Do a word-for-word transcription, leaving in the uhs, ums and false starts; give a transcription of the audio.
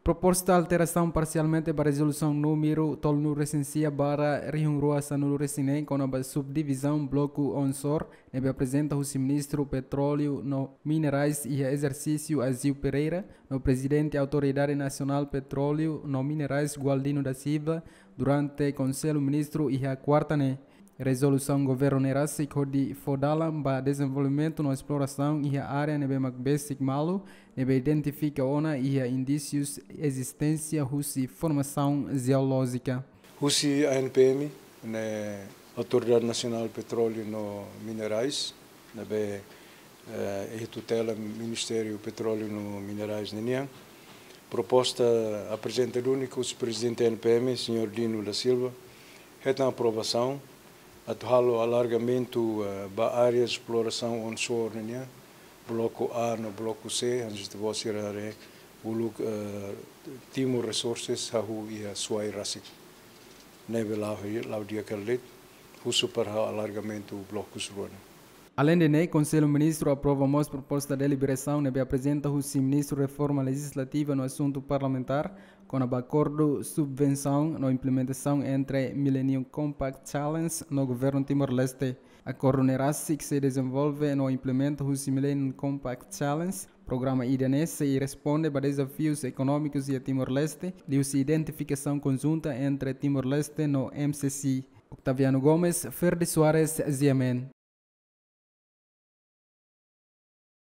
Proposta alterasaun parsialmente ba rezolusaun númeru tolunulu-resin-sia barra rihun rua sanulu-resin-neen kona-ba subdivizaun bloku onshore ne'ebé aprezenta husi Ministru Petróleu no Minerais iha ezersísiu Azeu Pereira no Prezidente Autoridade Nasionál Petróleu no Minerais Gualdino da Silva durante Konsellu Ministru iha kuarta ne'e. Rezolusaun governu ne'e rasik hodi fó dalan ba dezenvolvimentu no esplorasaun iha área ne'ebé mak besik malu, ne'ebé identifika ona iha indísius ezisténsia husi formasaun jeolójika. Husi A N P M, ne'e Autoridade Nasionál Petróleu no Minerais, ne'ebé, eh, iha tutela Ministériu Petróleu no Minerais ninian. Proposta aprezenta duni husi Prezidente A N P M, Señór Dino da Silva, hetan aprovasaun atu halo alargamentu, eh, ba área esplorasaun onshore nian, bloku A no bloku C, hanesan ita-boot sira haree, uluk, eh, Timor Resources hahú iha Suai rasik. Ne'ebé la'o, la'o di'ak hela de'it, husu para halo alargamentu blokus rua ne'e. Aleinde ne'e, Konsellu Ministru aprova mós proposta deliberasaun ne'ebé aprezenta husi Ministru Reforma Lejizlativa no Asuntu Parlamentár, kona-ba akordu subvensaun no implementasaun entre Millennium Compact Challenge no Governu Timor-Leste. Akordu ne'e rasik sei dezenvolve no implementa husi Millennium Compact Challenge, programa ida-ne'e sei responde ba dezafius ekonómikus iha Timor-Leste, liuhusi identifikasaun konjunta entre Timor-Leste no M C C. Octaviano Gomes, Ferdi Soares, G M N.